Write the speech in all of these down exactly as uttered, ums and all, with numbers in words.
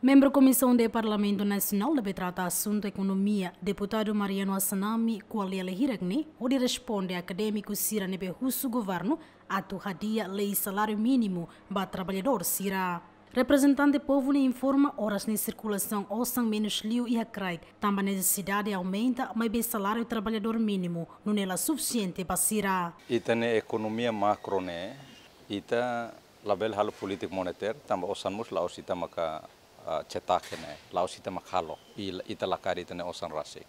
Membru Komisaun de Parlamentu Nasionál ne'ebé trata asuntu ekonomia, Deputadu Mariano Assanami, ko'alia hirak ne'e hodi responde akadémiku sira ne'ebé husu governu atu hadi'a lei saláriu mínimu ba traballadór sira. Reprezentante povu ne'e informa oras ne'e sirkulasaun osan menus liu iha kraik, tanba nesesidade aumenta, maibé saláriu traballadór mínimu nune'e la sufisiente ba sira. Ita-nia ekonomia makro ne'e, ita labele halo polítika monetária, tanba osan mós la'ós ita maka, ah, cetak ne'e, la'ós ita maka halo, i ita la kaer ita-nia osan rasik.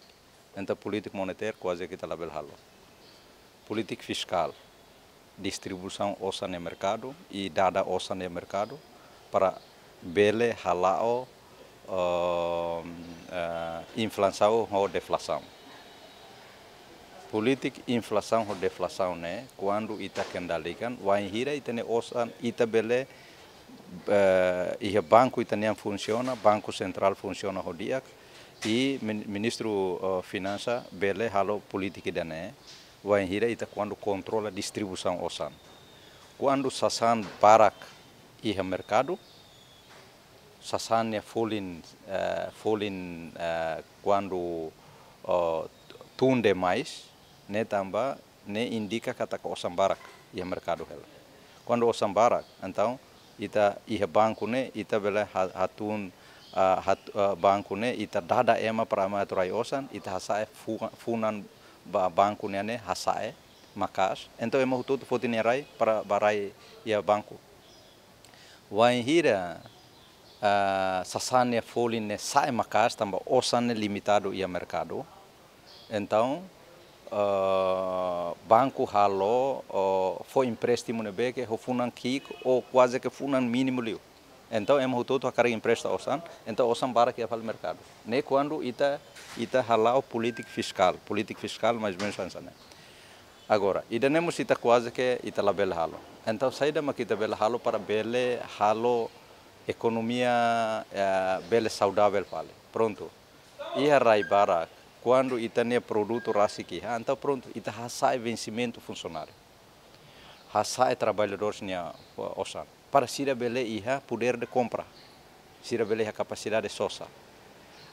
Entaun polítika monetária kuaze ke ita labele halo. Polítika fiskál, distribuisaun osan iha merkadu, i dada osan iha merkadu, para bele hala'o, ehm, eh, inflasaun ho deflasaun. Polítika inflasaun ho deflasaun ne'e, kuandu ita kendalikan, wainhira ita-nia osan, ita bele, eh, iha banku ita-nian funsiona, Banku Sentrál funsiona ho di'ak, i min-, Ministru, eh, Finansa bele halo polítika ida-ne'e, wainhira ita kuandu kontrola distribuisaun osan. Kuandu sasán barak iha merkadu, sasán nia folin, eh, folin, eh, kuandu, eh, tun demais, ne'e tanba, ne'e indika katak osan barak iha merkadu hela. Kuandu osan barak, entaun ita iha banku ne'e, ita bele ha-, hatun, ah, hat-, ah, banku ne'e, ita dada ema para ema atu rai osan, ita hasa'e fu-, funan ba banku ne'e, ne'e hasa'e maka'as. Entaun ema hotu-hotu foti nia rai para bá rai iha banku. Wainhira, ah, sasán nia folin ne'e sa'e maka'as tanba osan ne'e limitadu iha merkadu. Entaun, ah, banku halo, oh, fó empréstimu ne'ebé ke ho funan ki'ik ou kuaze ke funan mínimu liu. Entaun ema hotu-hotu hakarak empresta osan, entaun osan barak iha fali merkadu. Ne'e kuandu ita, ita hala'o polítika fiskál, polítika fiskál mais ou menus hanesan ne'e. Agora, ida-ne'e mós ita kuaze ke ita labele halo. Entaun, saida mak ita bele halo para bele halo ekonomia, eh, bele saudavel fali. Prontu. Iha rai barak, kuandu ita-nia produtu rasik iha, entaun prontu, ita hasa'e vensimentu funsionáriu. Hasa'e traballadór nia, eh, osan. Para sira bele iha podér de kompra. Sira bele iha kapasidade sosa.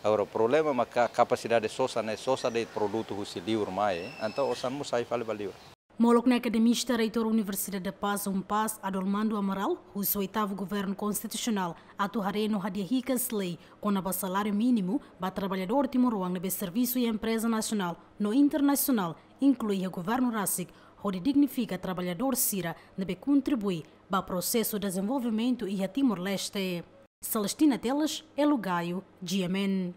Agora, problema maka kapasidade sosa ne'e, sosa de'it produtu husi liur mai, entaun osan mós sai fali ba liur. Molok ne'e akademista reitór Universidade da Paz, UNPAZ, Adolmando Amaral, husu oitavu governu konstitusionál atu haree no hadi'a hikas lei kona-ba saláriu mínimu ba traballadór timoroan ne'ebé servisu iha empreza nasionál no internasionál, inklui iha governu rasik, hodi dignifika traballadór sira ne'ebé kontribui ba prosesu dezenvolvimentu iha Timor-Leste. Celestina Teles, Elo Gaio, G M N.